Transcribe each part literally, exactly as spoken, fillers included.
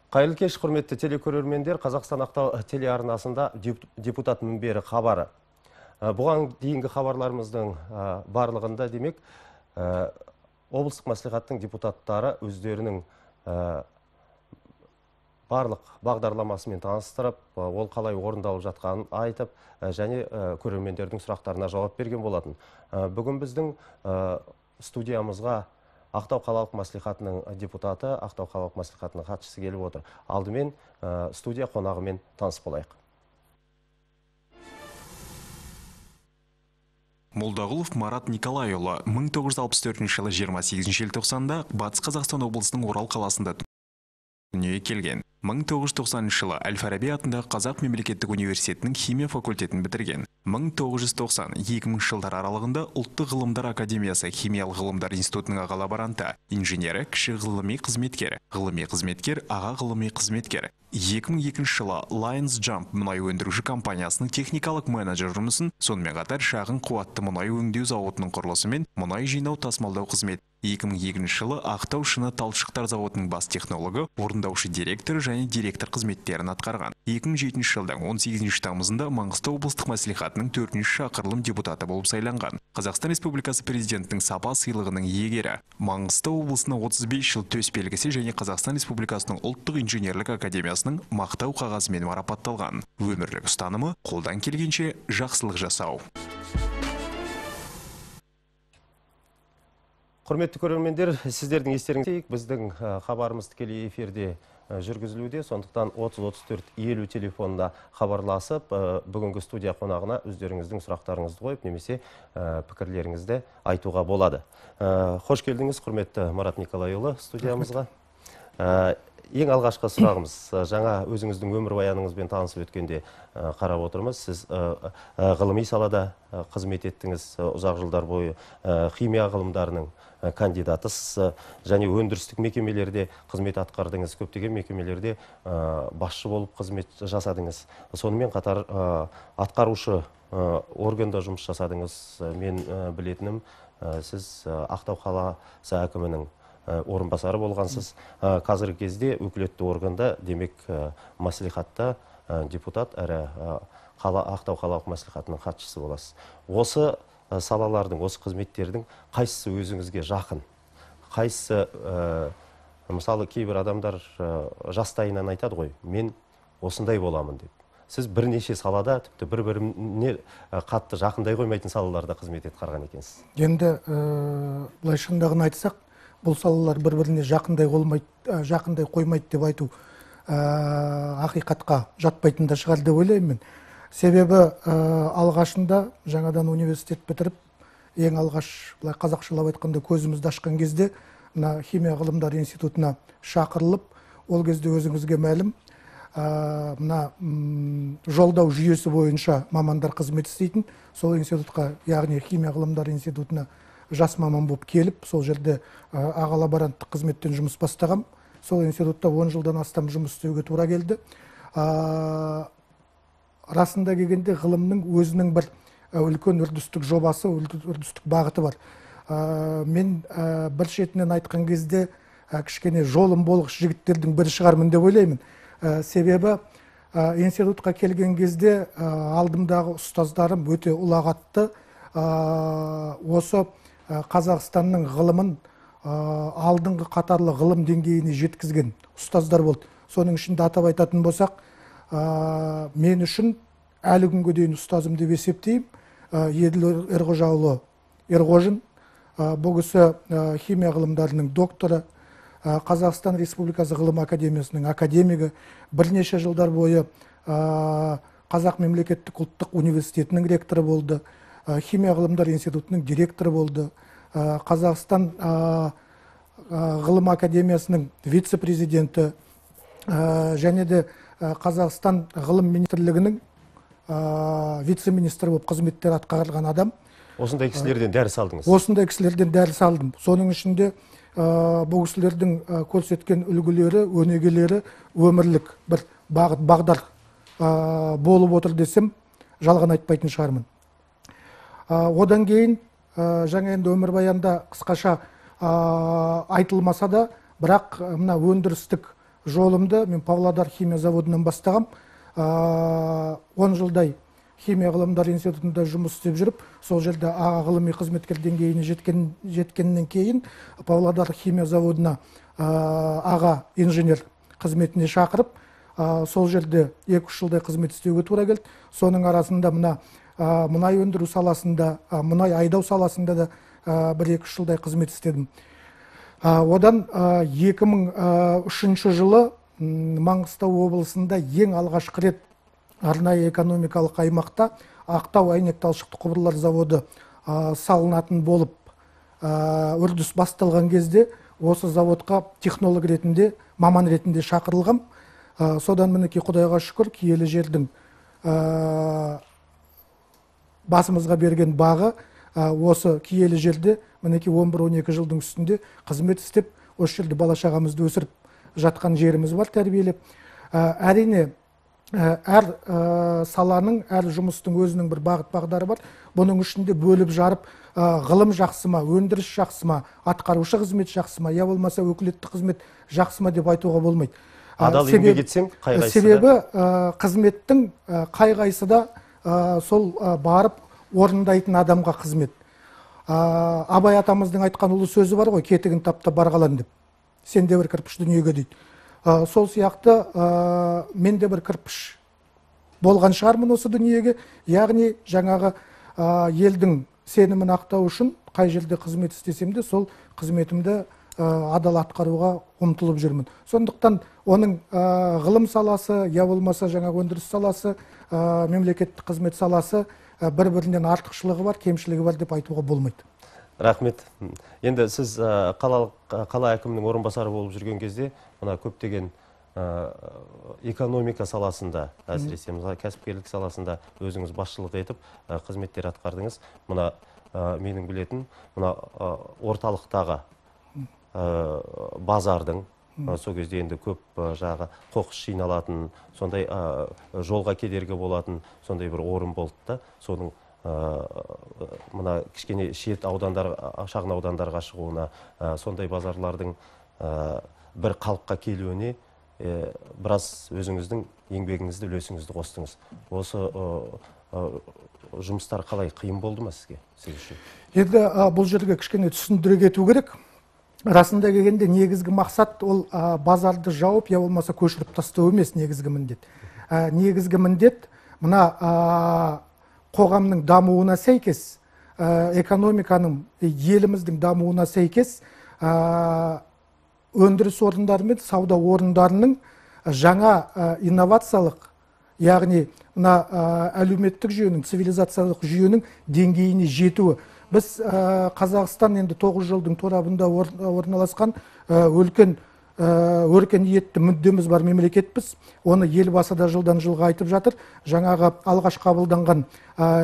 Қайырлы кеш, құрметті телекөрермендер. Қазақстан Ақтау телеарнасында депутат мінбері хабары. Бұған дейінгі хабарларымыздың барлығында демек облыстық мәслихаттың депутаттары өздерінің барлық бағдарламасымен таныстырып, ол қалай орындалып жатқанын айтып, және көрермендердің сұрақтарына жауап берген болатын. Бүгін біздің студиямызға Ақтау қалалық мәслихатының депутаты, Ақтау қалалық мәслихатының хатшысы келіп отыр. Алдымен студия қонағымен таныс болайық. Молдағұлов Марат Николайұлы мың тоғыз жүз алпыс төртінші жылы жиырма сегізінші желтоқсанда Батыс Қазақстан облысының Орал қаласында дүниеге келген. мың тоғыз жүз тоқсаныншы жылы Әл-Фараби атындағы Қазақ мемлекеттік университетінің химия факультетін бітірген. мың тоғыз жүз тоқсан екі мыңыншы жылдар аралығында Ұлттық ғылымдар академиясы химиялық ғылымдар институтының аға лаборанты, инженері, кіші ғылыми қызметкер, ғылыми қызметкер, аға ғылыми қызметкер. екі мың екінші жылы Lions Jump мұнай өндіруші компаниясының техникалық менеджер жұмысын, сонымен қатар шағын қуатты мұнай өңдеу зауытының құрылысы мен мұнай жинау тасымалдау қызмет. екі мың екінші жылы Ақтау шыны талшықтар зауытының бас технологы, орындаушы директор және директор қызметтерін атқарған. екі мың жетінші жылдан он сегізінші тамызында Маңғыстау облыстық мәслихатының төртінші шақырылым депутаты болып сайланған. Қазақстан Республикасы президентінің сапа сыйлығының иегері. Маңғыстау облысына отыз бес жыл төс белгісі және Қазақстан Республикасының ұлттық инженерлік академиясының мақтау қағазымен марапатталған. Өмірлік ұстанымы қолдан келгенше жақсылық жасау. Құрметті көрермендер, сіздердің естеріңізде біздің хабарымыз тікелей эфирде жүргізілуде, сондықтан отыз отыз төрт елу телефонына хабарласып, бүгінгі студия қонағына өздеріңіздің сұрақтарыңызды қойып, немесе пікірлеріңізді айтуға болады. Қош келдіңіз, құрметті Марат Николайұлы, студиямызға. Ең алғашқы сұрағымыз, жаңа өзіңіздің өмір баяныңызбен танысып өткенде қарап отырмыз. Сіз ғылыми салада қызмет еттіңіз, ұзақ жылдар бойы химия ғылымдарының кандидатысыз, және өндірістік мекемелерде қызмет атқардыңыз, көптеген мекемелерде басшы болып қызмет жасадыңыз. Сонымен қатар атқарушы органда жұмыс жасадыңыз. Мен білетінім, сіз Ақтау қаласы әкімінің орынбасары болғансыз. Қазіргі кезде өкілетті органда, демек мәслихатта депутат әрі Ақтау қалалық мәслихатының хатшысы боласыз. Осы салалардың, осы қызметтердің қайсысы өзіңізге жақын? Қайсысы, мысалы, кейбір адамдар жастайынан айтады ғой, мен осындай боламын деп. Сіз бірнеше салада, тіпті бір-біріне қатты жақындай қоймайтын салаларда қызмет етқарған екенсіз. Енді былай шындығын айтсақ, бұл салалар бір-біріне жақындай қоймайды деп айту ақиқатқа жатпайтын да шығар деп ойлаймын. Себебі алғашында жаңадан университет бітіріп, ең алғаш қазақшылап айтқанда көзімізді ашқан кезде химия ғылымдар институтына шақырылып, ол кезде өзіңізге мәлім, жолдау жүйесі бойынша мамандар қызмет істейтін, сол институтқа, яғни химия ғылымдар институтына жас маман болып келіп, сол жерде аға лаборанттық қызметтен жұмыс бастағам. Сол институтта он жылдан астам жұмыс істеуге тура келді. Расында келгенде ғылымның өзінің бір үлкен үрдістік жобасы, үрдістік бағыты бар. Мен бір шетінен айтқан кезде кішкене жолым болғыш жігіттердің бірі шығармын деп ойлаймын. Себебі институтқа келген кезде алдымдағы ұстаздарым өте ұлағатты, осы Қазақстанның ғылымын алдыңғы қатарлы ғылым деңгейіне жеткізген ұстаздар болды. Соның ішінде атап айтатын болсақ, мен үшін әлі күнге дейін ұстазым деп есептеймін. Еділ Ерғожаұлы Ерғожин, бұл кісі химия ғылымдарының докторы, Қазақстан Республикасы ғылым академиясының академигі, бірнеше жылдар бойы Қазақ мемлекеттік ұлттық университетінің ректоры болды, химия ғылымдар институтының директоры болды, Қазақстан ғылым академиясының вице-президенті, және де Қазақстан ғылым министрлігінің вице-министрі болып қызметтер атқарған адам. Осындай кісілерден дәріс алдыңыз? Осындай кісілерден дәріс алдым. Соның ішінде бұл кісілердің көрсеткен үлгілері, өнегелері өмірлік бір бағыт бағдар болып отыр десем, жалған айтпайтын шығармын. Одан кейін жаңа енді өмірбаянда қысқаша айтылмаса да, бірақ мына өндірістік жолымды мен Павлодар химия заводынан бастағам. он жылдай химия ғылымдар институтында жұмыс істеп жүріп, сол жерде аға ғылыми қызметкер деңгейіне жеткен, жеткеннен кейін Павлодар химия заводына аға инженер қызметіне шақырып, сол жерде екі үш жылдай қызмет істеуге тура келді. Соның арасында мына мұнай өндіру саласында, мұнай айдау саласында да бір екі үш жылдай қызмет істедім. Одан екі мың үшінші жылы Маңғыстау облысында ең алғашқы рет арнайы экономикалық аймақта Ақтау әйнек талшықты құбырлар заводы салынатын болып үрдіс басталған кезде осы заводқа технолог ретінде, маман ретінде шақырылғам. Содан мінекей Құдайға шүкір, киелі жердің басымызға берген бағы осы киелі жерде мінекей он бір он екі жылдың үстінде қызмет істеп, осы жерде бала шағамызды өсіріп жатқан жеріміз бар, тәрбиелеп. Әрине, әр саланың, әр жұмыстың өзінің бір бағыт бағдары бар. Бұның ішінде бөліп жарып, ғылым жақсы ма, өндіріс жақсы ма, атқарушы қызмет жақсы ма, я болмаса өкілетті қызмет жақсы ма деп айтуға болмайды. Адал еңбек етсең, қай қайсы да? Себебі қызметтің қай қайсы да сол барып орындайтын адамға қызмет. Абай атамыздың айтқан ұлы сөзі бар ғой, кетігін тапта барғалан деп. Сен де бір кірпіш дүниеге дейді. Сол сияқты мен де бір кірпіш болған шығармын осы дүниеге. Яғни жаңағы елдің сенімін ақтау үшін қай жерде қызмет істесем де сол қызметімді адал атқаруға ұмтылып жүрмін. Сондықтан оның ғылым саласы, я болмаса жаңағы өндіріс саласы, мемлекеттік қызмет саласы бір-бірінен артықшылығы бар, кемшілігі бар деп айтуға болмайды. Рахмет. Енді сіз қала әкімінің орынбасары болып жүрген кезде, мына көптеген экономика саласында, әсіресе кәсіпкерлік саласында өзіңіз басшылық етіп қызметтер атқардыңыз. Мына менің білетін, мына орталықтағы базардың, сол кезде енді көп жағы қоқыс жиналатын, сондай жолға кедергі болатын, сондай бір орын болды да, соның мына кішкене шет аудандар, шағын аудандарға шығуына, сондай базарлардың бір қалыпқа келуіне біраз өзіңіздің еңбегіңізді, үлесіңізді қостыңыз. Осы жұмыстар қалай, қиын болды ма сізге, сіз үшін? Енді бұл жерге кішкене түсіндіре кету керек. Расында келгенде негізгі мақсат ол базарды жауып, я болмаса көшіріп тастау емес негізгі міндет. Негізгі міндет мына қоғамның дамуына сәйкес, экономиканың, еліміздің дамуына сәйкес өндіріс орындары мен сауда орындарының жаңа инновациялық, яғни мына әлеуметтік жүйенің, цивилизациялық жүйенің деңгейіне жетуі. Біз Қазақстан енді тоғыз жылдың торабында орналасқан өлкен өркениетті мүддеміз бар мемлекетпіз. Оны елбасы да жылдан жылға айтып жатыр. Жаңағы алғаш қабылданған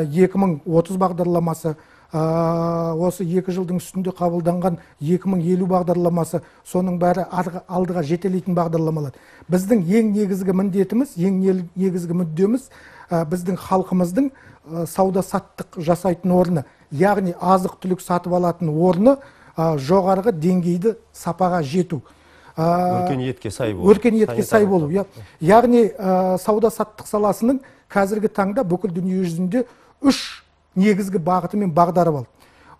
екі мың отыз бағдарламасы, осы екі жылдың үстінде қабылданған екі мың елу бағдарламасы, соның бәрі алдыға жетелейтін бағдарламалар. Біздің ең негізгі міндетіміз, ең негізгі мүддеміз біздің халқымыздың сауда саттық жасайтын орны, яғни азық түлік сатып алатын орны жоғарғы деңгейді сапаға жету. Өркениетке сай болу. Өркениетке сай болу. Яғни сауда саттық саласының қазіргі таңда бүкіл дүние жүзінде үш негізгі бағыты мен бағдары бар.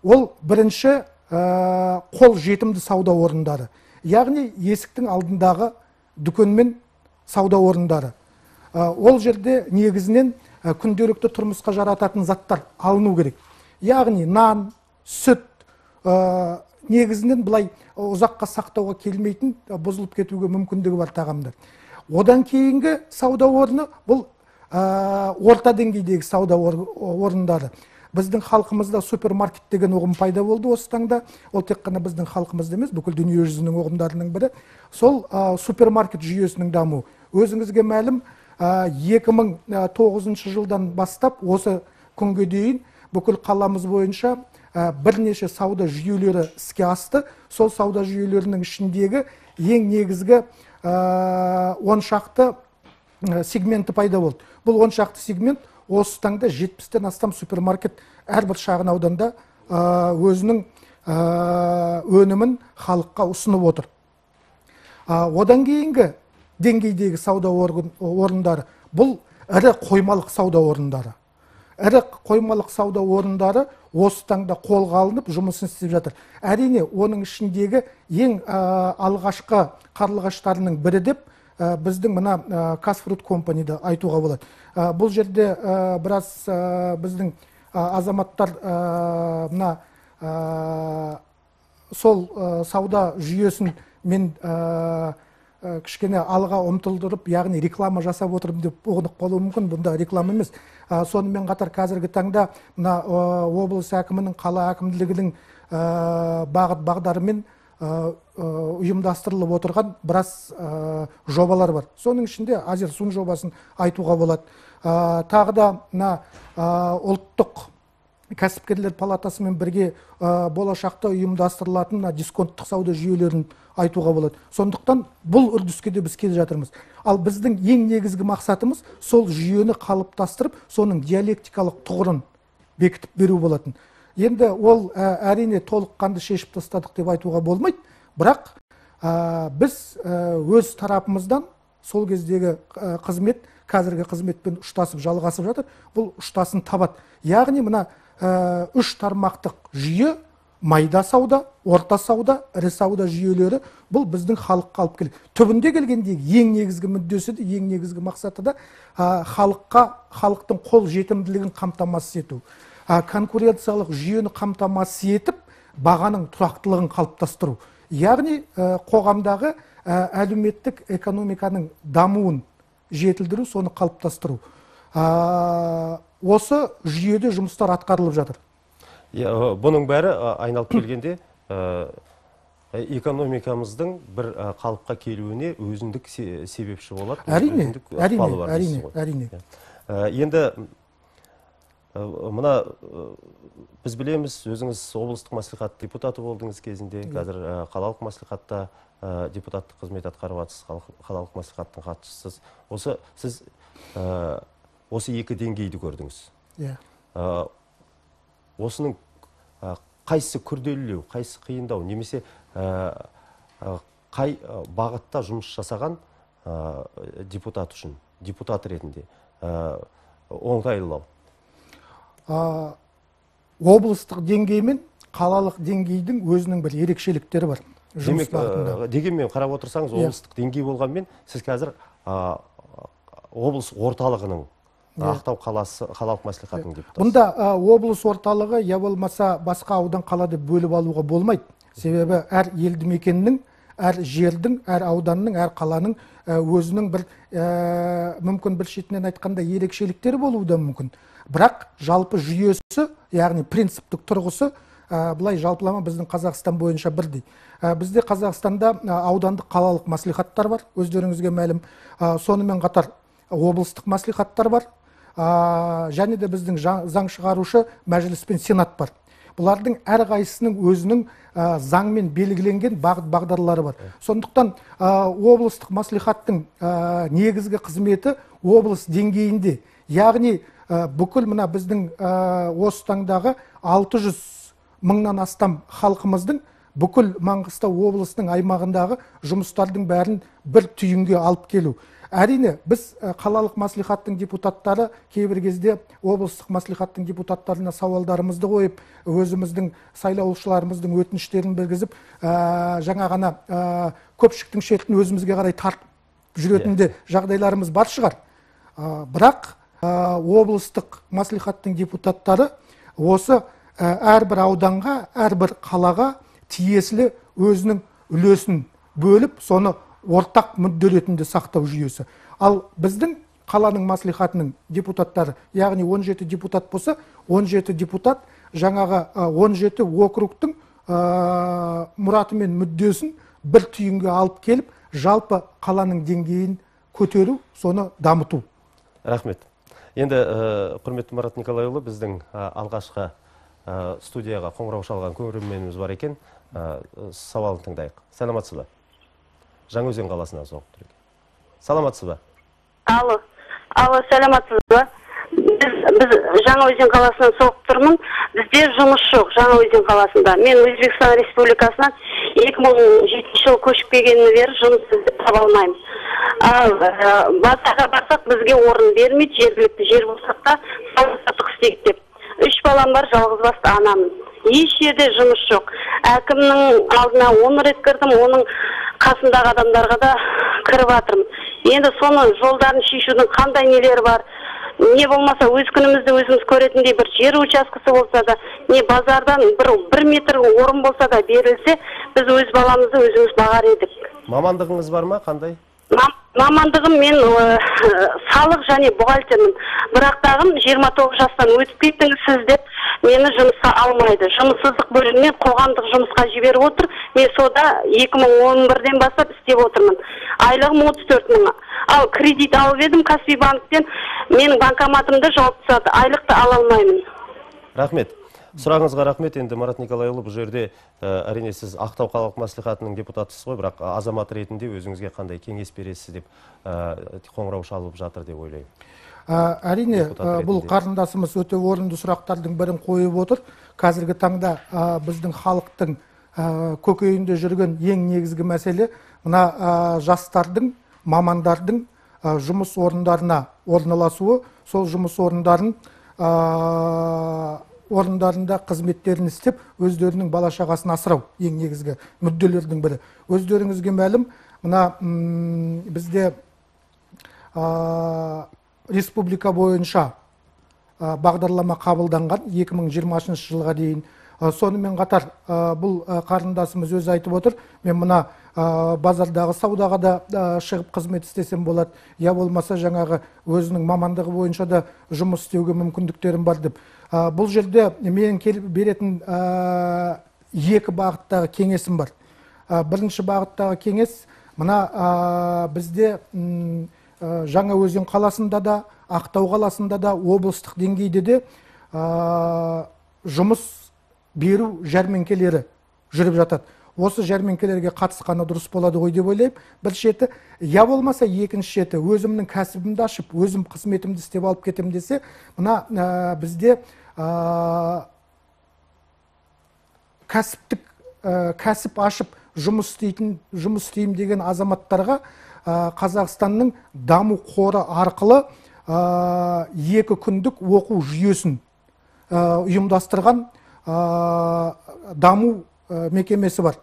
Ол бірінші қол жетімді сауда орындары. Яғни есіктің алдындағы дүкен мен сауда орындары. Ол жерде негізінен күнделікті тұрмысқа жарататын заттар алыну керек. Яғни нан, сүт, негізінен бұлай ұзаққа сақтауға келмейтін, бұзылып кетуге мүмкіндігі бар тағамдар. Одан кейінгі сауда орны бұл орта деңгейдегі сауда орындары. Біздің халқымызда супермаркет деген ұғым пайда болды осы таңда. Ол тек қана біздің халқымызда емес, бүкіл дүние жүзінің ұғымдарының бірі. Сол супермаркет жүйесінің дамуы. Өзіңізге мәлім, екі мың тоғызыншы жылдан бастап осы күнге дейін бүкіл қаламыз бойынша бірнеше сауда жүйелері іске асты. Сол сауда жүйелерінің ішіндегі ең негізгі он шақты сегменті пайда болды. Бұл он шақты сегмент осы таңда жетпістен астам супермаркет әрбір шағын ауданда өзінің өнімін халыққа ұсынып отыр. Одан кейінгі деңгейдегі сауда орындары бұл ірі қоймалық сауда орындары. Ірі қоймалық сауда орындары осы таңда қолға алынып жұмысын істеп жатыр. Әрине, оның ішіндегі ең алғашқы қарлығаштарының бірі деп біздің мына Казфруит компанияда айтуға болады. Бұл жерде біраз біздің азаматтар мына сол сауда жүйесін мен кішкене алға ұмтылдырып, яғни реклама жасап отырмын деп ұғынып қалуы мүмкін. Бұнда реклама емес. Сонымен қатар қазіргі таңда мына облыс әкімінің, қала әкімдігінің бағыт бағдарымен ұйымдастырылып отырған біраз жобалар бар. Соның ішінде Азерсун жобасын айтуға болады. Тағы да мына ұлттық кәсіпкерлер палатасымен бірге болашақта ұйымдастырылатын дисконттық сауда жүйелерін айтуға болады. Сондықтан бұл үрдіске де біз келе жатырмыз. Ал біздің ең негізгі мақсатымыз сол жүйені қалыптастырып, соның диалектикалық тұғырын бекітіп беру болатын. Енді ол әрине толыққанды шешіп тастадық деп айтуға болмайды, бірақ біз өз тарапымыздан сол кездегі қызмет қазіргі қызметпен ұштасып жалғасып жатыр. Бұл ұштасын табады. Яғни мына үш тармақтық жүйе, майда сауда, орта сауда, ірі сауда жүйелері бұл біздің халыққа алып келеді. Түбінде келгендегі ең негізгі мүддесі де, ең негізгі мақсаты да халыққа, халықтың қол жетімділігін қамтамасыз ету. Конкуренциялық жүйені қамтамасыз етіп, бағаның тұрақтылығын қалыптастыру. Яғни қоғамдағы әлеуметтік экономиканың дамуын жетілдіру, соны қалыптастыру. Осы жүйеде жұмыстар атқарылып жатыр. Бұның бәрі айналып келгенде экономикамыздың бір қалыпқа келуіне өзіндік себепші болады. Әрине, әрине, әрине. Енді мына біз білеміз, өзіңіз облыстық мәслихат депутаты болдыңыз кезінде, қазір қалалық мәслихатта депутаттық қызмет атқарып жатсыз, қалалық мәслихаттың хатшысыз. Осы сіз осы екі деңгейді көрдіңіз. Осының қайсы күрделілеу, қайсы қиындау, немесе қай бағытта жұмыс жасаған депутат үшін, депутат ретінде оңтайлылау? Облыстық деңгей мен қалалық деңгейдің өзінің бір ерекшеліктері бар. Демек, дегенмен қарап отырсаңыз, облыстық деңгей болғанмен, сіз қазір облыс орталығының, Ақтау қаласы, қалалық мәслихатының депутаты. Бұнда облыс орталығы, я болмаса басқа аудан қала деп бөліп алуға болмайды. Себебі әр елді мекеннің, әр жердің, әр ауданның, әр қаланың өзінің бір мүмкін бір шетінен айтқанда ерекшеліктері болуы да мүмкін. Бірақ жалпы жүйесі, яғни принциптік тұрғысы бұлай жалпылама біздің Қазақстан бойынша бірдей. Бізде Қазақстанда аудандық қалалық мәслихаттар бар, өздеріңізге мәлім. Сонымен қатар облыстық мәслихаттар бар. Және де біздің заң шығарушы мәжіліс пен сенат бар. Бұлардың әрқайсысының өзінің заңмен белгіленген бағыт бағдарлары бар. Сондықтан облыстық мәслихаттың негізгі қызметі облыс деңгейінде, яғни бүкіл мына біздің осы таңдағы алты жүз мыңнан астам халқымыздың бүкіл Маңғыстау облысының аймағындағы жұмыстардың бәрін бір түйінге алып келу. Әрине, біз қалалық мәслихаттың депутаттары кейбір кезде облыстық мәслихаттың депутаттарына сауалдарымызды қойып, өзіміздің сайлаушыларымыздың өтініштерін білгізіп, жаңа ғана көпшіліктің шетін өзімізге қарай тартып жүретінде жағдайларымыз бар шығар. Бірақ облыстық мәслихаттың депутаттары осы әрбір ауданға, әрбір қалаға тиесілі өзінің үлесін бөліп, соны ортақ мүдде ретінде сақтау жүйесі. Ал біздің қаланың мәслихатының депутаттары, яғни он жеті депутат болса, он жеті депутат жаңағы он жеті округтың мұраты мен мүддесін бір түйінге алып келіп, жалпы қаланың деңгейін көтеру, соны дамыту. Рахмет. Енді құрметті Марат Николайұлы, біздің алғашқы студияға қоңырау шалған көрерменіміз бар екен. Сауалын тыңдайық. Саламатсыз ба? Жаңаөзен қаласынан соғып тұр екен. Саламатсыз ба? Алло, алло, саламатсыз ба? Біз Жаңаөзен қаласынан соғып тұрмын. Бізде жұмыс жоқ Жаңаөзен қаласында. Мен Өзбекстан Республикасынан екі мың жетінші жыл көшіп келгеннен бері жұмыс таба алмаймын. Ал базарға барсақ бізге орын бермейді, жергілікті жер болсақ та сауда-саттық істейік деп. Үш балам бар, жалғызбасты анамын. Еш жерде жұмыс жоқ. Әкімнің алдына он рет кірдім, оның қасындағы адамдарға да кіріп жатырмын. Енді соны жолдарын шешудің қандай нелері бар? Не болмаса өз күнімізді өзіміз көретіндей бір жер учаскесі болса да, не базардан бір, бір метр орын болса да берілсе, біз өз баламызды өзіміз бағар едік. Мамандығыңыз бар ма, қандай? Мамандығым мен салық және бухгалтермін. Бірақтағым жиырма тоғыз жастан өтіп кеттіңіз сіз деп мені жұмысқа алмайды. Жұмыссыздық бөлімінен қоғамдық жұмысқа жіберіп отыр. Мен сода екі мың он бірден бастап істеп отырмын. Айлығым отыз төрт мың. Ал кредит алып едім Каспий банктен. Менің банкоматымды жауып тастады. Айлықты ала алмаймын. Рахмет. Сұрағыңызға рахмет. Енді Марат Николайұлы, бұл жерде әрине сіз Ақтау қалалық мәслихатының депутатысыз ғой, бірақ азамат ретінде өзіңізге қандай кеңес бересіз деп қоңырау шалып жатыр деп ойлаймын. Әрине, бұл қарындасымыз өте орынды сұрақтардың бірін қойып отыр. Қазіргі таңда біздің халықтың көкейінде жүрген ең негізгі мәселе мына жастардың, мамандардың жұмыс орындарына орналасуы, сол жұмыс орындарын орындарында қызметтерін істеп, өздерінің бала-шағасын асырау ең негізгі мүдделердің бірі. Өздеріңізге мәлім, мына бізде республика бойынша бағдарлама қабылданған екі мың жиырмасыншы жылға дейін. Сонымен қатар бұл қарындасымыз өзі айтып отыр, мен мына базардағы саудаға да шығып қызмет істесем болады, я болмаса жаңағы өзінің мамандығы бойынша да жұмыс істеуге мүмкіндіктерім бар деп. Бұл жерде менің келіп беретін екі бағыттағы кеңесім бар. Бірінші бағыттағы кеңес, мына бізде Жаңаөзен қаласында да, Ақтау қаласында да, облыстық деңгейде де жұмыс беру жәрмеңкелері жүріп жатады. Осы жәрмеңкелерге қатысқаны дұрыс болады ғой деп ойлаймын. Бір шеті, я болмаса екінші шеті, өзімнің кәсібімді ашып, өзім қызметімді істеп алып кетем десе, мына бізде кәсіптік кәсіп ашып жұмыс істейтін, жұмыс істеймін деген азаматтарға Қазақстанның даму қоры арқылы екі күндік оқу жүйесін ұйымдастырған даму мекемесі бар.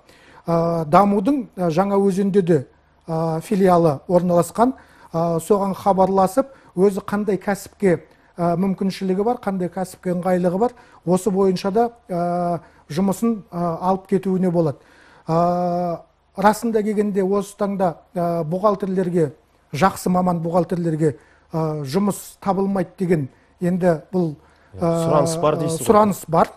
Дамудың Жаңаөзенде де филиалы орналасқан. Соған хабарласып, өзі қандай кәсіпке мүмкіншілігі бар, қандай кәсіпке ыңғайлығы бар, осы бойынша да жұмысын алып кетуіне болады. Расында келгенде осы таңда бухгалтерлерге, жақсы маман бухгалтерлерге жұмыс табылмайды деген енді бұл сұраныс бар дейсіз. Сұраныс бар.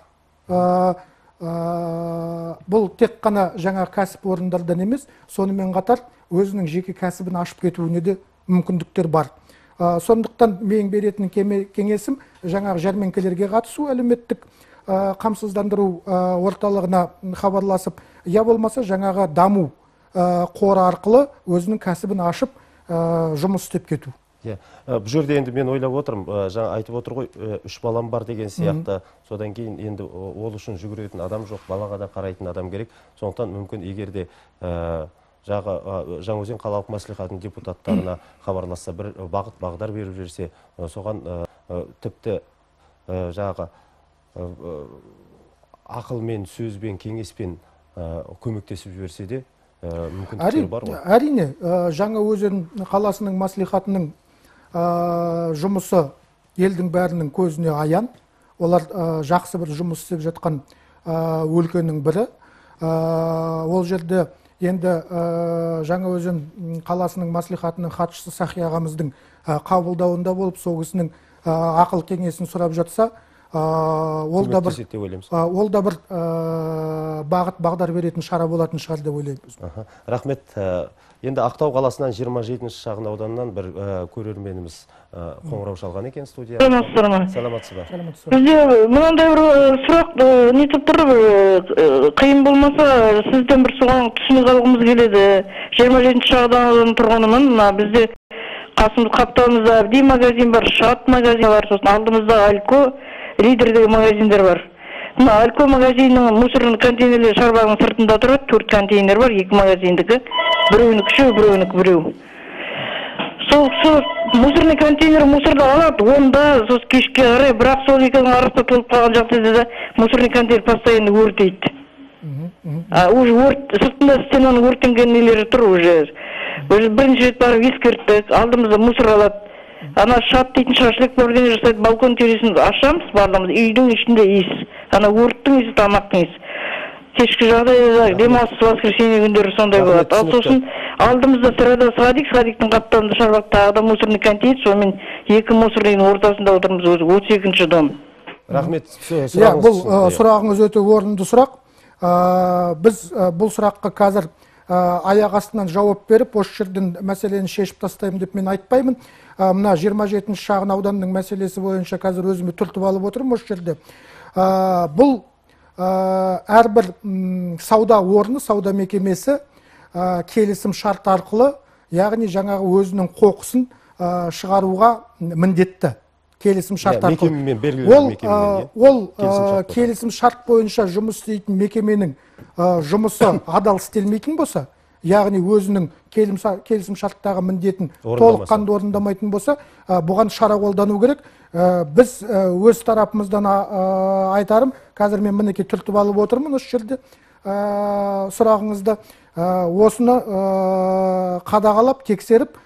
Бұл тек қана жаңа кәсіп орындардан емес, сонымен қатар өзінің жеке кәсібін ашып кетуіне де мүмкіндіктер бар. Сондықтан мен беретін кеңесім жаңағы жәрмеңкелерге қатысу, әлеуметтік қамсыздандыру орталығына хабарласып, я болмаса жаңағы даму қоры арқылы өзінің кәсібін ашып жұмыс істеп кету. Бұл жерде енді мен ойлап отырмын, жаңа айтып отыр ғой, үш балам бар деген сияқты, содан кейін енді ол үшін жүгіретін адам жоқ, балаға да қарайтын адам керек. Сондықтан мүмкін егерде Жаңаөзен қалалық мәслихатының депутаттарына хабарласса, бір бағыт бағдар беріп жүрсе, соған тіпті жаңағы ақылмен, сөзбен, кеңеспен көмектесіп жіберсе де мүмкіндіктер бар ғой. Әрине, Жаңаөзен қаласының мәслихатының жұмысы елдің бәрінің көзіне аян. Олар жақсы бір жұмыс істеп жатқан өлкенің бірі. Ол жерде енді Жаңаөзен қаласының мәслихатының хатшысы Сахи ағамыздың қабылдауында болып, сол кісінің ақыл кеңесін сұрап жатса, ол да бір ол да бір бағыт бағдар беретін шара болатын шығар деп ойлаймын. Рахмет. Енді Ақтау қаласынан жиырма жетінші шағын ауданынан бір көрерменіміз қоңырау шалған екен студия. Саламатсыз ба? Бізде мынандай бір сұрақ нетіп тұр, қиын болмаса сізден бір соған түсінік алғымыз келеді. жиырма жетінші шағын аудан тұрғынымын. Бізде қасымыз қаптауымызда Абди магазин бар, Шат магазин бар, сосын алдымызда Алько, Лидердегі магазиндер бар. Алько магазинінің мусорный контейнерлер шарбағының сыртында тұрады, төрт контейнер бар, екі магазиндікі. Біреуінікі үшеу, біреуінікі біреу. сол кісі мусорный контейнер мусорды алады, онда сол кешке қарай, бірақ сол екеуінің арасында толып қалған жағдайда да мусорный контейнер постоянно өртейді. А уже өрт, сыртында стенаның өртенген нелері тұр уже. Уже бірінші рет барып ескерттік, алдымызда мусор алады. Ана шат дейтін шашлық бірдеңе жасайды, балкон терезесін ашамыз, барлығымыз, үйдің ішінде иіс. Ана өрттің иісі, тамақтың иісі. Кешкі жағдайда демалыс воскресенье күндері сондай болады. Ал сосын алдымызда сырада садик, садиктің қапталында шаруақ тағы да мусорный контейнер, сонымен екі мусорныйдың ортасында отырмыз, өзі отыз екінші дом. Рахмет, иә, бұл сұрағыңыз өте орынды сұрақ. Біз бұл сұраққа қазір аяқ астынан жауап беріп, осы жерден мәселені шешіп тастаймын деп мен айтпаймын. Мына жиырма жетінші шағын ауданның мәселесі бойынша қазір өзіме түртіп алып отырмын осы жерде. Бұл әрбір сауда орны, сауда мекемесі келісім шарт арқылы, яғни жаңағы өзінің қоқысын шығаруға міндетті. Келісім шарт арқылы. Ол келісім шарт бойынша жұмыс істейтін мекеменің жұмысы адал істелмейтін болса, яғни өзінің келісім шарттағы міндетін толыққанды орындамайтын болса, бұған шара қолдану керек. Біз өз тарапымыздан айтарым, қазір мен мінеке түртіп алып отырмын осы жерде сұрағыңызды, осыны қадағалап, тексеріп,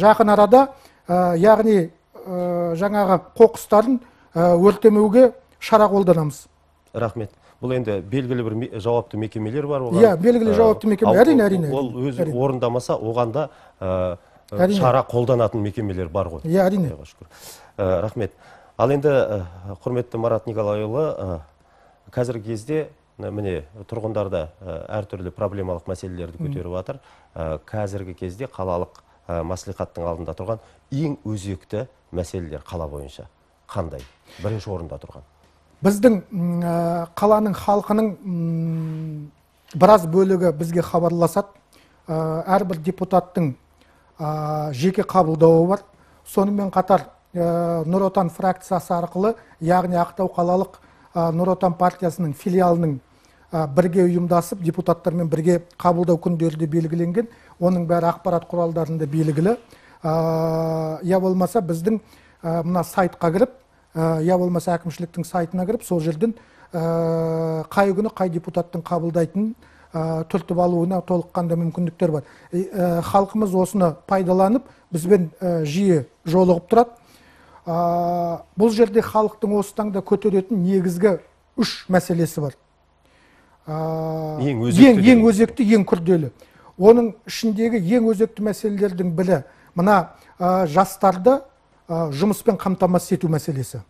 жақын арада, яғни жаңағы қоқыстарын өртемеуге шара қолданамыз. Рахмет. Бұл енді белгілі бір жауапты мекемелер бар. Иә, белгілі жауапты мекемелер, әрине, әрине. Ол өзі орындамаса, оғанда шара қолданатын мекемелер бар ғой. Иә, әрине. Рахмет. Ал енді, құрметті Марат Николайұлы, қазіргі кезде міне тұрғындарда әртүрлі проблемалық мәселелерді көтеріп жатыр. Қазіргі кезде қалалық мәслихаттың алдында тұрған ең өзекті мәселелер қала бойынша қандай? Бірінші орында тұрған. Біздің қаланың халқының біраз бөлігі бізге хабарласады. Әрбір депутаттың жеке қабылдауы бар. Сонымен қатар Нұр Отан фракциясы арқылы, яғни Ақтау қалалық Нұр Отан партиясының филиалының бірге ұйымдасып, депутаттармен бірге қабылдау күндері де белгіленген. Оның бәрі ақпарат құралдарында белгілі. Я болмаса біздің мына сайтқа кіріп, я болмаса әкімшіліктің сайтына кіріп, сол жерден қай күні қай депутаттың қабылдайтын түртіп алуына толыққанды мүмкіндіктер бар. Халқымыз осыны пайдаланып, бізбен жиі жолығып тұрады. Бұл жерде халықтың осы таңда көтеретін негізгі үш мәселесі бар. Ең өзекті, ең күрделі. Оның ішіндегі ең өзекті мәселелердің бірі мына жастарды жұмыспен қамтамасыз ету мәселесі.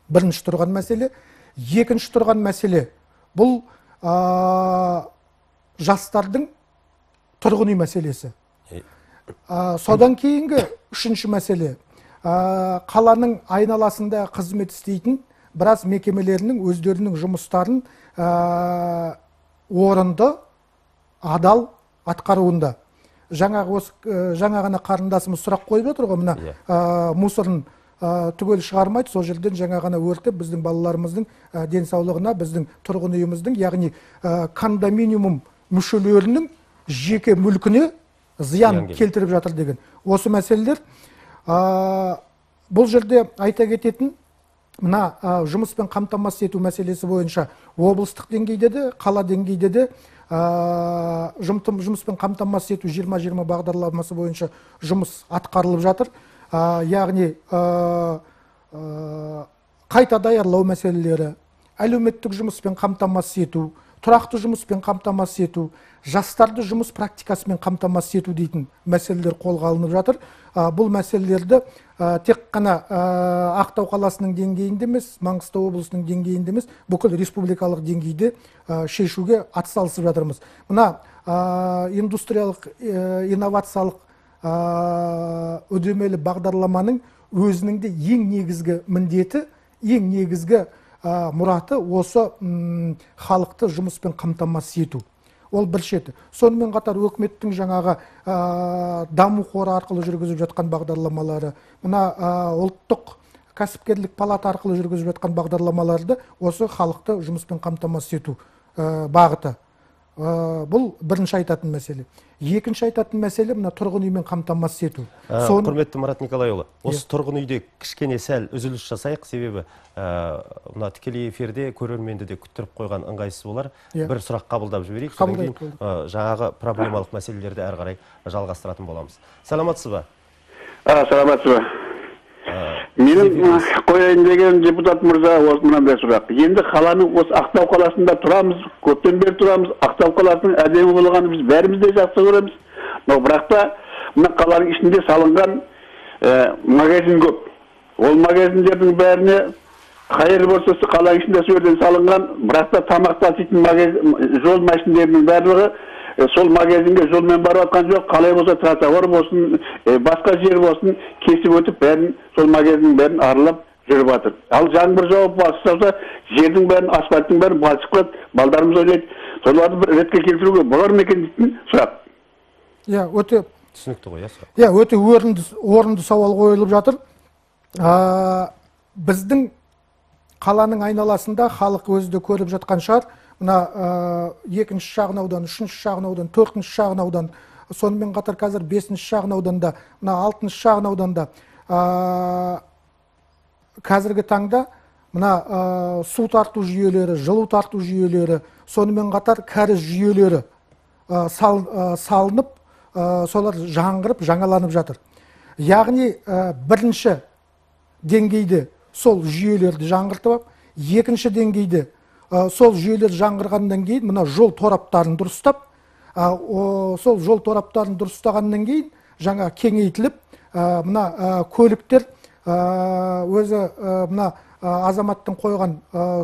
Бірінші тұрған мәселе. Екінші тұрған мәселе бұл жастардың тұрғын үй мәселесі. Содан кейінгі үшінші мәселе қаланың айналасында қызмет істейтін біраз мекемелерінің өздерінің жұмыстарын орынды, адал атқаруында. Жаңа ғана қарындасымыз сұрақ қойып отыр ғой, мына мусорын түгел шығармайды, сол жерден жаңа ғана өртеп біздің балаларымыздың денсаулығына, біздің тұрғын үйіміздің, яғни кондоминиум мүшелерінің жеке мүлкіне зиян келтіріп жатыр деген. Осы мәселелер. Бұл жерде айта кететін, мына жұмыспен қамтамасыз ету мәселесі бойынша облыстық деңгейде де, қала деңгейде де жұмыспен қамтамасыз ету жиырма жиырма бағдарламасы бойынша жұмыс атқарылып жатыр. Яғни қайта даярлау мәселелері, әлеуметтік жұмыспен қамтамасыз ету, тұрақты жұмыспен қамтамасыз ету, жастарды жұмыс практикасымен қамтамасыз ету дейтін мәселелер қолға алынып жатыр. Бұл мәселелерді тек қана Ақтау қаласының деңгейінде емес, Маңғыстау облысының деңгейінде емес, бүкіл республикалық деңгейде шешуге атсалысып жатырмыз. Мына индустриялық, инновациялық үдемелі бағдарламаның өзінің де ең негізгі міндеті, ең негізгі мұраты осы халықты жұмыспен қамтамасыз ету. Ол бір шеті. Сонымен қатар өкіметтің жаңағы даму қоры арқылы жүргізіп жатқан бағдарламалары, мына ұлттық кәсіпкерлік палата арқылы жүргізіп жатқан бағдарламаларды осы халықты жұмыспен қамтамасыз ету бағыты. бұл бірінші айтатын мәселе. Екінші айтатын мәселе мына тұрғын үймен қамтамасыз ету. Құрметті Марат Николайұлы, осы тұрғын үйде кішкене сәл үзіліс жасайық, себебі мына тікелей эфирде көрерменді де күттіріп қойған ыңғайсыз болар. Бір сұрақ қабылдап жіберейік, содан кейін жаңағы проблемалық мәселелерді әрі қарай жалғастыратын боламыз. Саламатсыз ба? Саламатсыз ба? Менің қояйын деген депутат мырза осы мынандай сұрақ. Енді қаланың осы Ақтау қаласында тұрамыз, көптен бері тұрамыз. Ақтау қаласының әдемі болғаны біз бәріміз де жақсы көреміз. Бірақ та мына қаланың ішінде салынған магазин көп. Ол магазиндердің бәріне қайыр болса қаланың ішінде сөйлен салынған, бірақ та тамақ таситын жол машиналарының барлығы сол магазинге жолмен барып атқан жоқ, қалай болса тротуар болсын, басқа жер болсын, кесіп өтіп бәрін сол магазиннің бәрін аралап жүріп жатыр. Ал жаңбыр жауып басылса, жердің бәрін, асфальттың бәрін балшық қылады, балдарымыз ойлайды. Соларды бір ретке келтіруге болар ма екен дейтін сұрақ. Иә, өте түсінікті ғой, сұрақ. Иә, өте орынды, орынды сауал қойылып жатыр. Біздің қаланың айналасында халық өзі де көріп жатқан шығар. Мына екінші шағын аудан, үшінші шағын аудан, төртінші шағын аудан, сонымен қатар қазір бесінші шағын ауданда, мына алтыншы шағын ауданда қазіргі таңда мына су тарту жүйелері, жылу тарту жүйелері, сонымен қатар кәріз жүйелері салынып, солар жаңғырып, жаңаланып жатыр. Яғни бірінші деңгейде сол жүйелерді жаңғыртып, екінші деңгейде сол жүйелер жаңғырғаннан кейін мына жол тораптарын дұрыстап, сол жол тораптарын дұрыстағаннан кейін жаңа кеңейтіліп, мына көліктер өзі мына азаматтың қойған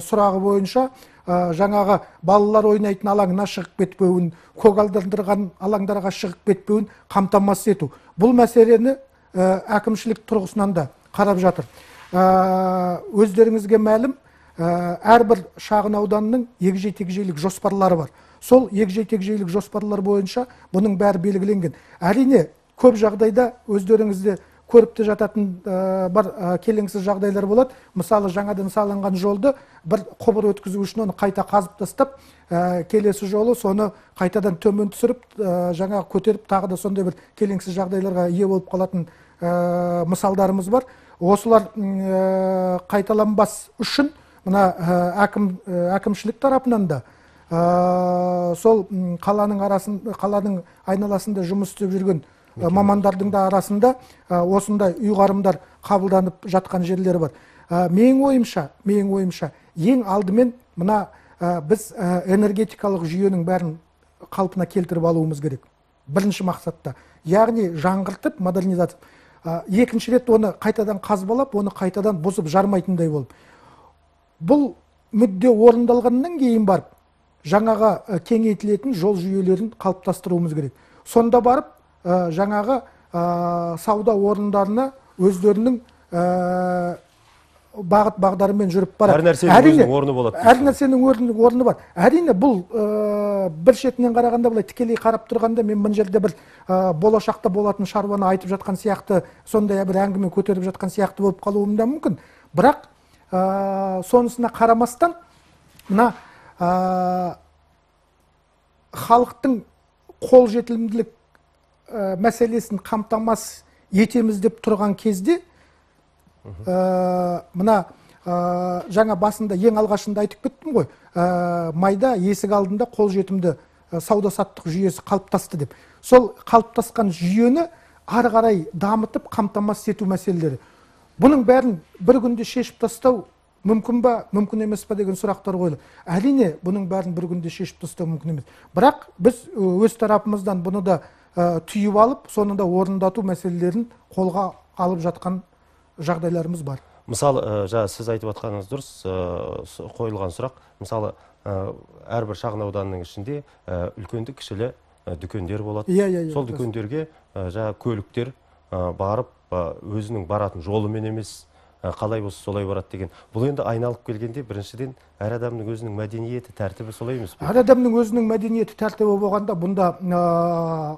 сұрағы бойынша жаңағы балалар ойнайтын алаңына шығып кетпеуін, көгалдандырған алаңдарға шығып кетпеуін қамтамасыз ету. Бұл мәселені әкімшілік тұрғысынан да қарап жатыр. Өздеріңізге мәлім, әрбір шағын ауданның егжей-тегжейлік жоспарлары бар. Сол егжей-тегжейлік жоспарлар бойынша бұның бәрі белгіленген. Әрине, көп жағдайда өздеріңізде көріп те жататын бар келеңсіз жағдайлар болады. Мысалы, жаңадан салынған жолды бір құбыр өткізу үшін оны қайта қазып тастап, келесі жолы соны қайтадан төмен түсіріп, жаңа көтеріп, тағы да сондай бір келеңсіз жағдайларға ие болып қалатын мысалдарымыз бар. Осылар қайталанбас үшін мына әкімшілік тарапынан да сол қаланың арасында, қаланың айналасында жұмыс істеп жүрген мамандардың да арасында осындай ұйғарымдар қабылданып жатқан жерлері бар. Менің ойымша, менің ойымша, ең алдымен мына біз энергетикалық жүйенің бәрін қалпына келтіріп алуымыз керек. Бірінші мақсатта. Яғни жаңғыртып, модернизация. Екінші рет оны қайтадан қазбалап, оны қайтадан бұзып жармайтындай болып. Бұл мүдде орындалғаннан кейін барып, жаңаға кеңейтілетін жол жүйелерін қалыптастыруымыз керек. Сонда барып, жаңағы сауда орындарына өздерінің бағыт бағдарымен жүріп барады. Әр нәрсенің орны болады. Әр нәрсенің орны бар. Әрине, бұл бір шетінен қарағанда, былай тікелей қарап тұрғанда, мен бұл жерде бір болашақта болатын шаруаны айтып жатқан сияқты, сондай бір әңгіме көтеріп жатқан сияқты болып қалуым да мүмкін. Бірақ сонысына қарамастан, мына халықтың қолжетімділік мәселесін қамтамасыз етеміз деп тұрған кезде, мына жаңа басында ең алғашында айтып кеттім ғой, майда есік алдында қолжетімді сауда-саттық жүйесі қалыптасты деп. Сол қалыптасқан жүйені ары қарай дамытып қамтамасыз ету мәселелері. Бұның бәрін бір күнде шешіп тастау мүмкін ба, мүмкін емес па деген сұрақтар қойылды. Әрине, бұның бәрін бір күнде шешіп тастау мүмкін емес. Бірақ біз өз тарапымыздан бұны да түйіп алып, соны да орындату мәселелерін қолға алып жатқан жағдайларымыз бар. Мысалы, жаңа сіз айтып жатқаныңыз дұрыс, қойылған сұрақ. Мысалы, әрбір шағын ауданның ішінде үлкенді кішілі дүкендер болады. Сол дүкендерге жаңа көліктер барып, өзінің баратын жолымен емес, қалай болса солай барады деген. Бұл енді айналып келгенде біріншіден әр адамның өзінің мәдениеті, тәртібі солай емес пе? Әр адамның өзінің мәдениеті, тәртібі болғанда, бұнда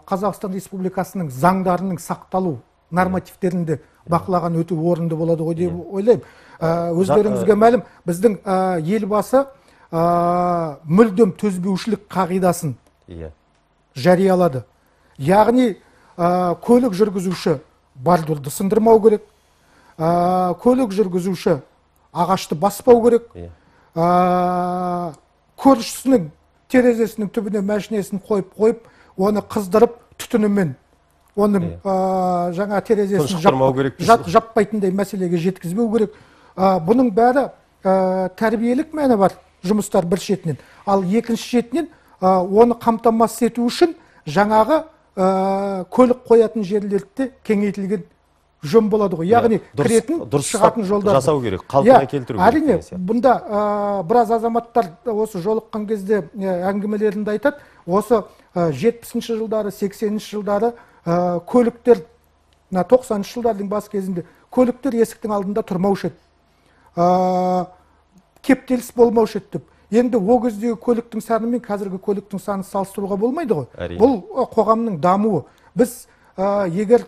Қазақстан Республикасының заңдарының сақталу нормативтерінде бақылаған өте орынды болады ғой деп ойлаймын. Өздеріңізге мәлім, біздің елбасы мүлдем төзбеушілік қағидасын Иә. жариялады. Яғни көлік жүргізуші бордюрды сындырмау керек, көлік жүргізуші ағашты баспау керек, көршісінің терезесінің түбіне мәшинесін қойып қойып, оны қыздырып түтінімен оның жаңа терезесін жаппайтындай мәселеге жеткізбеу керек. Бұның бәрі тәрбиелік мәні бар жұмыстар бір шетінен. Ал екінші шетінен оны қамтамасыз ету үшін жаңағы көлік қоятын жерлерді кеңейтілген жөн болады ғой. Яғни кіретін шығатын жолдар жасау керек, қалпына келтіру керек. Әрине, бұнда біраз азаматтар осы жолыққан кезде әңгімелерінде айтады, осы жетпісінші жылдары, сексенінші жылдары көліктер, тоқсаныншы жылдардың бас кезінде көліктер есіктің алдында тұрмаушы еді. Кептеліс болмаушы еді деп. Енді о кездегі көліктің саны мен қазіргі көліктің саны салыстыруға болмайды ғой. Бұл қоғамның дамуы. Біз егер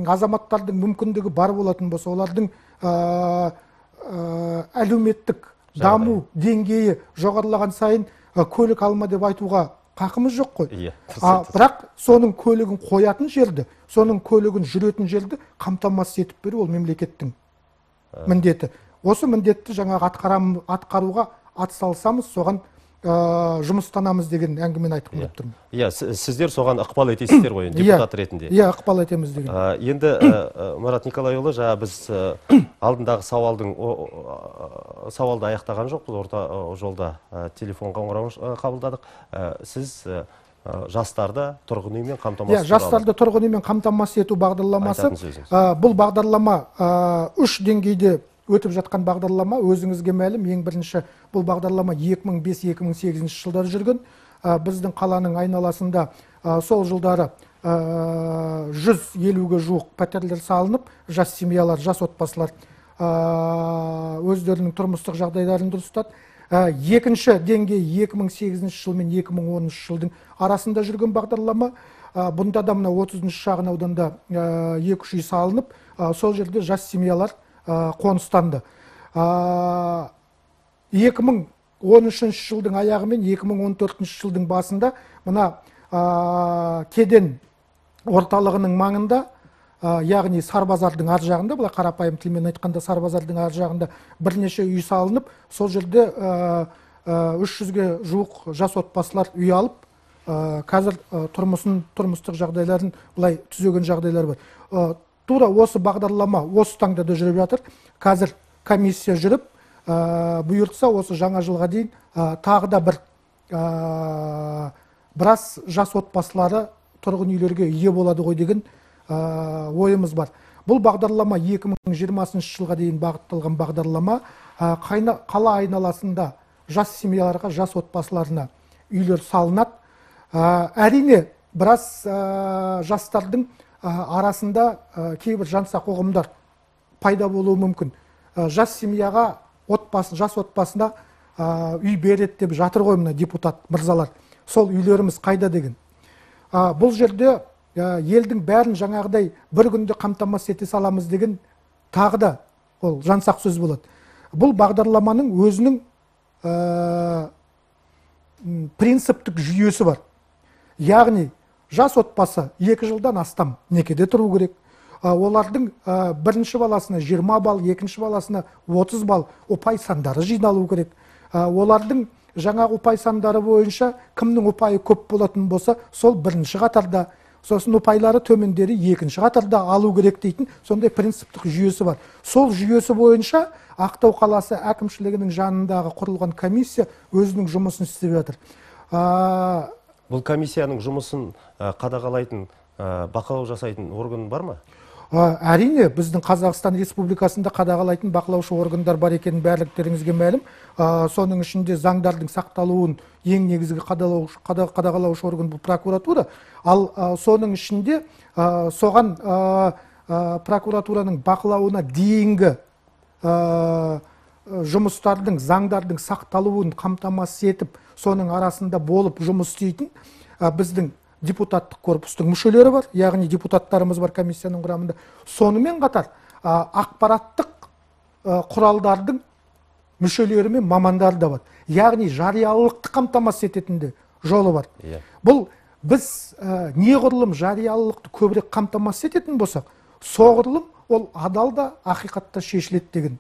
азаматтардың мүмкіндігі бар болатын болса, олардың әлеуметтік даму деңгейі жоғарылаған сайын көлік алма деп айтуға қақымыз жоқ қой. Бірақ соның көлігін қоятын жерді, соның көлігін жүретін жерді қамтамасыз етіп беру ол мемлекеттің міндеті. Осы міндетті жаңағы атқаруға атсалысамыз, соған жұмыстанамыз деген әңгімені айтып келіп тұрмын. Иә, сіздер соған ықпал етесіздер ғой, депутат ретінде. Иә, ықпал етеміз деген. Енді Марат Николайұлы, жаңа біз алдындағы сауалдың сауалды аяқтаған жоқпыз, орта жолда телефон қоңырауын қабылдадық. Сіз жастарды тұрғын үймен қамтамасыз ету. Жастарды тұрғын үймен қамтамасыз ету бағдарламасы. Бұл бағдарлама үш деңгейде өтіп жатқан бағдарлама, өзіңізге мәлім, ең бірінші бұл бағдарлама екі мың бес екі мың сегізінші жылдары жүрген. Біздің қаланың айналасында сол жылдары жүз елуге жуық пәтерлер салынып, жас семьялар, жас отбасылар өздерінің тұрмыстық жағдайларын дұрыстады. Екінші деңгей екі мың сегізінші жыл мен екі мың оныншы жылдың арасында жүрген бағдарлама. Бұнда да мына отызыншы шағын ауданда екі үш үй салынып, сол жерде жас семьялар қоныстанды. екі мың он үшінші жылдың аяғы мен екі мың он төртінші жылдың басында мына кеден орталығының маңында, яғни Сарбазардың ар жағында, бұлай қарапайым тілмен айтқанда Сарбазардың ар жағында бірнеше үй салынып, сол жерде үш жүзге жуық жас отбасылар үй алып, қазір тұрмысын, тұрмыстық жағдайларын бұлай түзеген жағдайлар бар. Тура осы бағдарлама осы таңда да жүріп жатыр. Қазір комиссия жүріп, бұйыртса осы жаңа жылға дейін тағы да бір біраз жас отбасылары тұрғын үйлерге ие болады ғой деген ойымыз бар. Бұл бағдарлама екі мың жиырмасыншы жылға дейін бағытталған бағдарлама. Қала айналасында жас семьяларға, жас отбасыларына үйлер салынады. Әрине, біраз жастардың арасында кейбір жансақ ұғымдар пайда болуы мүмкін. Жас семьяға, жас отбасына үй береді деп жатыр ғой мына депутат мырзалар. Сол үйлеріміз қайда деген. Бұл жерде елдің бәрін жаңағыдай бір күнде қамтамасыз ете саламыз деген тағы да ол жансақ сөз болады. Бұл бағдарламаның өзінің принциптік жүйесі бар. Яғни жас отбасы екі жылдан астам некеде тұру керек. Олардың бірінші баласына жиырма балл, екінші баласына отыз балл ұпай сандары жиналу керек. Олардың жаңа ұпай сандары бойынша кімнің ұпайы көп болатын болса, сол бірінші қатарда, сосын ұпайлары төмендері екінші қатарда алу керек дейтін сондай принциптік жүйесі бар. Сол жүйесі бойынша Ақтау қаласы әкімшілігінің жанындағы құрылған комиссия өзінің жұмысын істеп жатыр. Бұл комиссияның жұмысын қадағалайтын, бақылау жасайтын орган бар ма? Әрине, біздің Қазақстан Республикасында қадағалайтын бақылаушы органдар бар екенін барлықтарыңызге мәлім. Соның ішінде заңдардың сақталуын ең негізгі қадағалаушы орган бұл прокуратура. Ал соның ішінде соған прокуратураның бақылауына дейінгі жұмыстардың, заңдардың сақталуын қамтамасыз етіп, соның арасында болып жұмыс істейтін біздің депутаттық корпустың мүшелері бар, яғни депутаттарымыз бар комиссияның құрамында. Сонымен қатар ақпараттық құралдардың мүшелері мен мамандары да бар. Яғни жариялылықты қамтамасыз ететін де жолы бар. Бұл біз неғұрлым жариялылықты көбірек қамтамасыз ететін болсақ, соғұрлым ол адал да ақиқатта шешіледі деген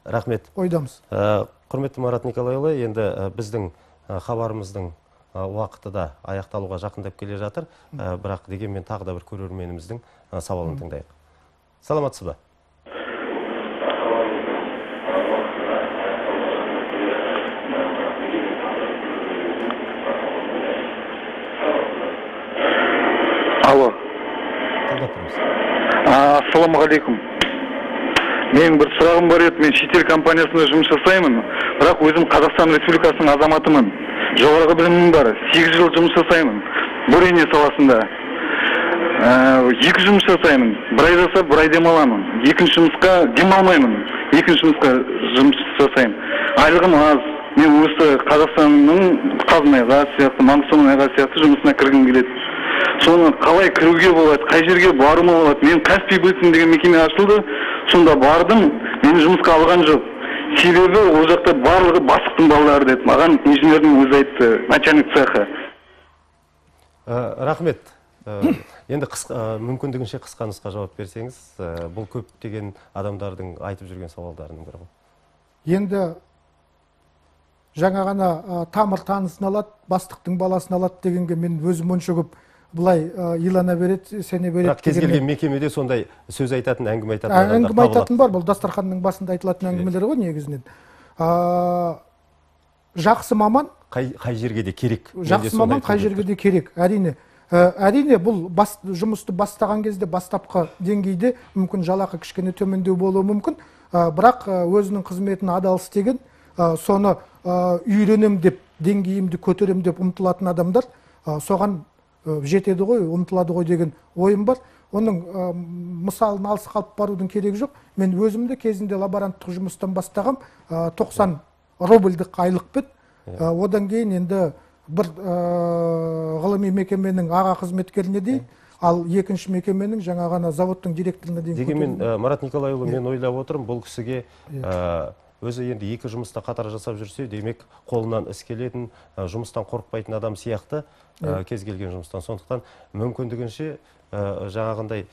рахмет ойдамыз. Құрметті Марат Николайұлы, енді біздің хабарымыздың уақыты да аяқталуға жақындап келе жатыр, бірақ дегенмен тағы да бір көрерменіміздің сауалын тыңдайық. Саламатсыз ба? Алло. Тыңдап тұрмыз. Ассалаумағалейкум. Менің бір сұрағым бар еді. Мен шетел компаниясында жұмыс жасаймын, бірақ өзім Қазақстан Республикасының азаматымын. Жоғарғы білімім бар. сегіз жыл жұмыс жасаймын. Бурение саласында. Екі жұмыс жасаймын. Бір ай жасап, бір ай демаламын. Екінші жұмысқа демалмаймын. Екінші жұмысқа жұмыс жасаймын. Айлығым аз. Мен осы Қазақстанның Қазмайға сияқты, Маңғыстау сияқты жұмысына кіргім келеді. Соны қалай кіруге болады, қай жерге баруыма болады? Мен Каспий бөлім деген мекеме ашылды, сонда бардым, мені жұмысқа алған жоқ. Себебі ол жақта барлығы бастықтың балалары деді. Маған инженердің өзі айтты, начальник цеха. Рахмет. Енді мүмкіндігінше қысқа нұсқа жауап берсеңіз, бұл көптеген адамдардың айтып жүрген сауалдарының бірі ғой. Енді жаңа ғана тамыр танысын алады, бастықтың баласын алады дегенге мен өзім онша көп бұлай илана береді, сене береді. Бірақ кез келген мекемеде сондай сөз айтатын, әңгіме айтатын адамдар табылады. Әңгіме айтатын бар, бұл дастарханның басында айтылатын әңгімелер ғой негізінен. Жақсы маман қай жерге де керек. Жақсы маман қай жерге де керек, әрине. Әрине бұл жұмысты бастаған кезде бастапқы деңгейде мүмкін жалақы кішкене төмендеу болуы мүмкін, бірақ өзінің қызметін адал істеген, соны үйренем деп, деңгейімді көтерем деп ұмтылатын адамдар соған жетеді ғой, ұмтылады ғой деген ойым бар. Оның мысалын алыс қалып барудың керегі жоқ. Мен өзімді кезінде лаборанттық жұмыстан бастағам, тоқсан рубльдік айлық бет. Одан кейін енді бір ғылыми мекеменің аға қызметкеріне дейін, ал екінші мекеменің жаңа ғана заводтың директорына дейін. Дегенмен Марат Николайұлы, мен ойлап отырмын, бұл кісіге өзі енді екі жұмыста қатар жасап жүрсе, демек қолынан іс келетін, жұмыстан қорықпайтын адам сияқты, кез келген жұмыстан. Сондықтан мүмкіндігінше жаңағындай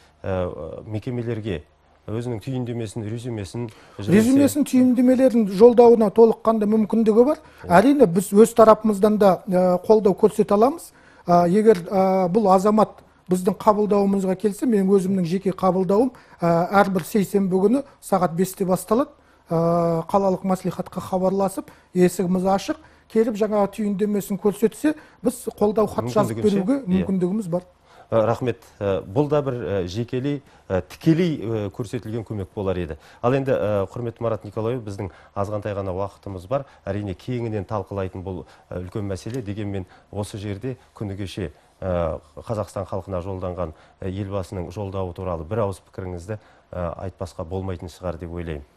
мекемелерге өзінің түйіндемесін, резюмесін резюмесін, түйіндемелерін жолдауына толыққанда мүмкіндігі бар. Әрине біз өз тарапымыздан да қолдау көрсете аламыз. Егер бұл азамат біздің қабылдауымызға келсе, мен өзімнің жеке қабылдауым әрбір сейсенбі күні сағат бесте басталады. Қалалық мәслихатқа хабарласып, есігіміз ашық, келіп жаңа түйіндемесін көрсетсе, біз қолдау хат жазып беруге мүмкіндігіміз бар. Рахмет. Бұл да бір жекелей, тікелей көрсетілген көмек болар еді. Ал енді, құрметті Марат Николайұлы, біздің азғантай ғана уақытымыз бар. Әрине кеңінен талқылайтын бұл үлкен мәселе. Дегенмен осы жерде күні кеше Қазақстан халқына жолданған елбасының жолдауы туралы бір ауыз пікіріңізді айтпасқа болмайтын шығар деп ойлаймын.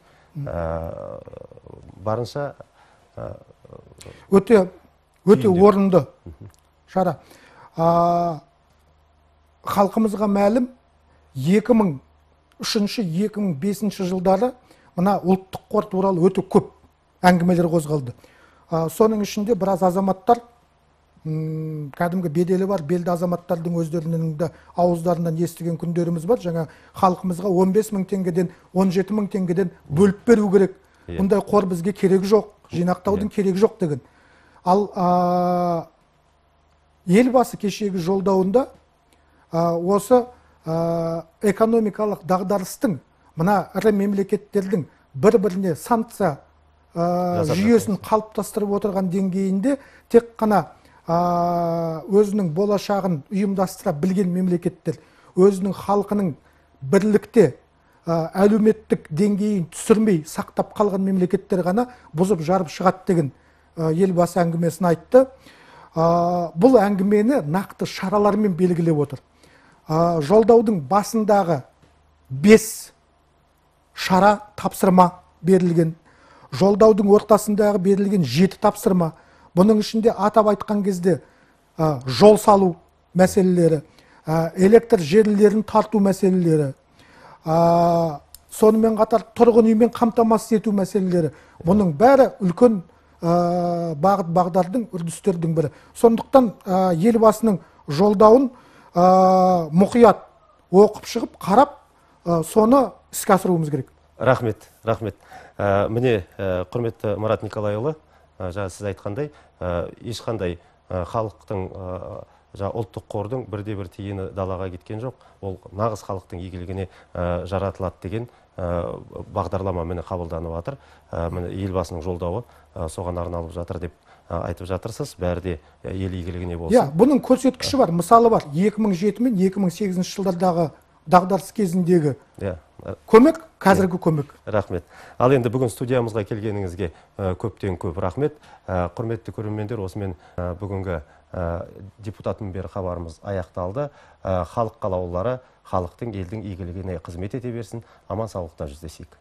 Барынша өте өте орынды шара. Халқымызға мәлім екі мың үшінші - екі мың бесінші жылдары мына ұлттық қор туралы өте көп әңгімелер қозғалды. Соның ішінде біраз азаматтар, кәдімгі беделі бар, белді азаматтардың өздерінің де ауыздарынан естіген күндеріміз бар. Жаңа халқымызға он бес мың теңгеден, он жеті мың теңгеден бөліп беру керек. Бұндай қор бізге керек жоқ, жинақтаудың керек жоқ деген. Ал елбасы кешегі жолдауында осы экономикалық дағдарыстың, мына ірі мемлекеттердің бір-біріне санкция жүйесін қалыптастырып отырған деңгейінде тек қана өзінің болашағын ұйымдастыра білген мемлекеттер, өзінің халқының бірлікте әлеуметтік деңгейін түсірмей сақтап қалған мемлекеттер ғана бұзып жарып шығады деген елбасы әңгімесін айтты. Бұл әңгімені нақты шаралармен белгілеп отыр. Жолдаудың басындағы бес шара тапсырма берілген. Жолдаудың ортасындағы берілген жеті тапсырма. Бұның ішінде атап айтқан кезде жол салу мәселелері, электр желілерін тарту мәселелері, сонымен қатар тұрғын үймен қамтамасыз ету мәселелері. Бұның бәрі үлкен бағыт бағдардың үрдістердің бірі. Сондықтан елбасының жолдауын мұқият оқып шығып, қарап, соны іске асыруымыз керек. Рахмет, рахмет. Міне, құрметті Марат Николайұлы, жаңа сіз айтқандай, ешқандай халықтың, ұлттық қордың бірде-бір тиыны далаға кеткен жоқ. Ол нағыз халықтың игілігіне жаратылады деген бағдарлама міне қабылданып жатыр. Міне елбасының жолдауы соған арналып жатыр деп айтып жатырсыз. Бәрі де ел игілігіне болсын. Иә, бұның көрсеткіші бар, мысалы бар. екі мың жеті мен екі мың сегізінші жылдардағы дағдарыс кезіндегі көмек, қазіргі көмек. Рахмет. Ал енді бүгін студиямызға келгеніңізге көптен көп рахмет. Құрметті көрермендер, осымен бүгінгі депутат мінбері хабарымыз аяқталды. Халық қалаулылары халықтың, елдің игілігіне қызмет ете берсін. Аман саулықта жүздесейік.